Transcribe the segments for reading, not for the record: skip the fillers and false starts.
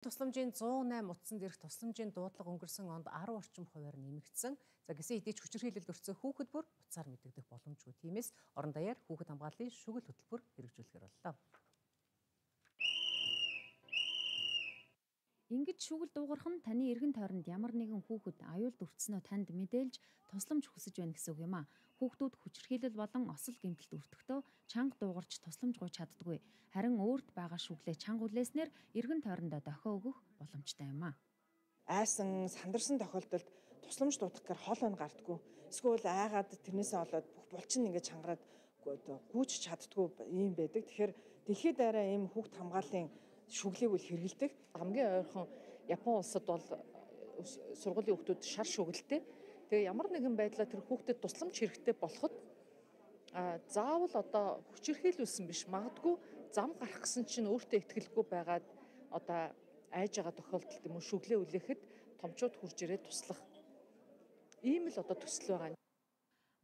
Тусламжийн 108 утсанд ирэх тусламжийн дуудлага өнгөрсөн онд 10 орчим хувиар нэмэгдсэн. За гэсэн хэдий ч хүчирхийлэлд өртсөн хүүхэд бүр буцаар мэдэгдэх боломжгүй. Тиймээс орон даяар хүүхэд хамгааллын шүгэл хөтөлбөр хэрэгжүүлэхээр боллоо. Ингэж шүгэл дуугарах нь таны эргэн тойронд ямар нэгэн хүүхэд аюулд өртснөө танд мэдээлж тусламж хүсэж байна гэсэн үг юм а. Хүүхдүүд хүчирхийлэл болон осол гэмтэлд өртөхдөө чанга дуугарч тусламж гуйж чаддаггүй. Харин өөрт байгаа шүглээ чанга үлээснээр эргэн тойрондоо дохио өгөх боломжтой юм а. Айсан сандарсан тохиолдолд тусламж дуудах гэхээр хол он гардггүй. Эсвэл айгаад тэрнээсээ болоод бүх булчин ингээд чангараад гүйж чаддгүй юм байдаг. Тэгэхээр дэлхийд даяараа ийм хүүхд хамгааллын шүглийг үл хэрэгэлдэг. Хамгийн ойрхон Япон улсад бол сургуулийн хүүхдүүд шар шүгэлтэй. Тэгээ ямар нэгэн байдлаар тэр хүүхдэд тусламж хэрэгтэй болоход заавал одоо хүчирхийлүүлсэн биш. Магадгүй зам гарах гэсэн чинь өөртөө итгэлгүй байгаад одоо айж байгаа тохиолдолд юм уу шүглээ үлээхэд томчууд хурж ирээд туслах. Ийм л одоо төсөл байгаа.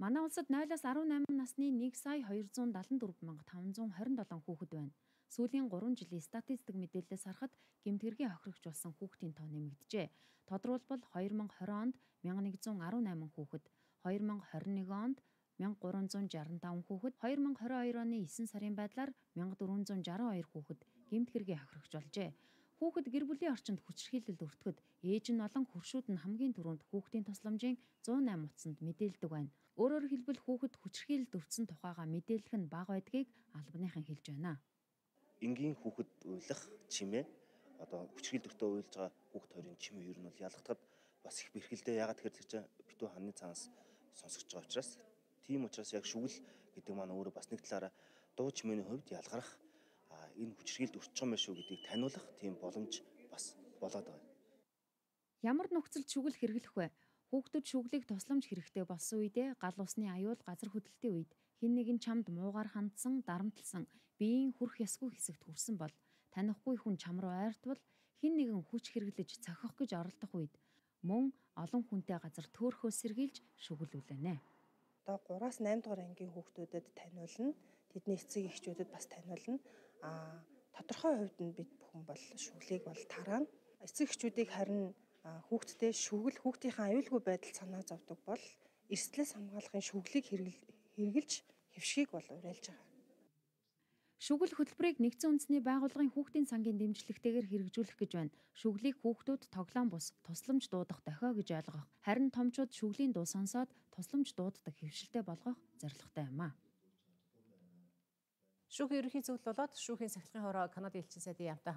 Манай улсад 0-аас 18 насны 1,274,527 хүүхэд байна. Сүүлийн 3 жилийн статистик мэдээлэлээс харахад гэмтгэргийн хохирогчулсан хүүхдийн тоо нэмэгджээ. Тодорхойлбол 2020 онд 1118 хүүхэд, 2021 онд 1365 хүүхэд, 2022 оны 9 сарын байдлаар 1462 хүүхэд гэмтгэргийн хохирогчулжээ. Хүүхэд гэр бүлийн орчинд хүчирхийлэлд өртөхөд ээж нь болон хөршүүд нь хамгийн түрүүнд хүүхдийн тусламжийн 108 утсанд мэдээлдэг байна. Өөрөөр хэлбэл хүүхэд хүчирхийлэлд өртсөн тухайга мэдээлэх нь бага байдгийг албаныхан хэлж байна. Энгийн хүүхэд уйлах чимээ одоо хүчирхийлэлд уйлж байгаа хүүхэд хоёрын чимээ ер нь бол ялгахад бас их бэрхэлдээ. Ягаад тэгэхээр тэр чинь битүү ханы цаанаас сонсогч байгаа учраас тийм учраас яг шүгэл гэдэг маань өөрөө бас нэг талаараа дуу чимээний хувьд ялгарах энэ хүчирхийлэлд өртөж байгаа юм шүү гэдгийг таниулах тийм боломж бас болоод байгаа. Ямар нөхцөлд шүгэл хэрэглэх вэ? Хүүхдүүд шүглийг тусламж хэрэгтэй болсон үедээ гал усны аюул газар хөдлөлтийн үед хэн нэгэн чамд муугар хандсан, дарамтлсан, биеийн хүрх ёсгүй хэсэгт хүрсэн бол танихгүй хүн чам руу ойртвол хэн нэгэн хүч хэрэглэж цохих гэж оролдох үед мөн олон хүнтэй газар төөрхөө сэргийлж шүглүүлэнэ. Одоо 3-аас 8 дугаар ангийн хүүхдүүдэд таниулна. Тэдний эцэг эхчүүдэд бас таниулна. Тодорхой хувьд нь бид бүхэн бол шүглийг бол тараана. Эцэг эхчүүдийг харин хүүхдтэй шүгэл хүүхдийнхээ аюулгүй байдал санаа зовдөг бол эрсдлээс хамгаалахын шүглийг хэрэгжилж хэвшгийг бол уриалж байгаа. Шүгэл хөтөлбөрийг нэгдсэн үндэсний байгууллагын хүүхдийн сангийн дэмжлэгтэйгээр хэрэгжүүлэх гэж байна. Шүглийг хүүхдүүд тоглоом бус тусламж дуудах дохио гэж ойлгох. Харин томчууд шүглийн дуу сонсоод тусламж дууддаг хэвшилтэй болгох зорилготой юм а. Шүүхийн ерөнхий зөвлөл болоод шүүхийн сахилгын хороо Канадын элчин сайдын яамтай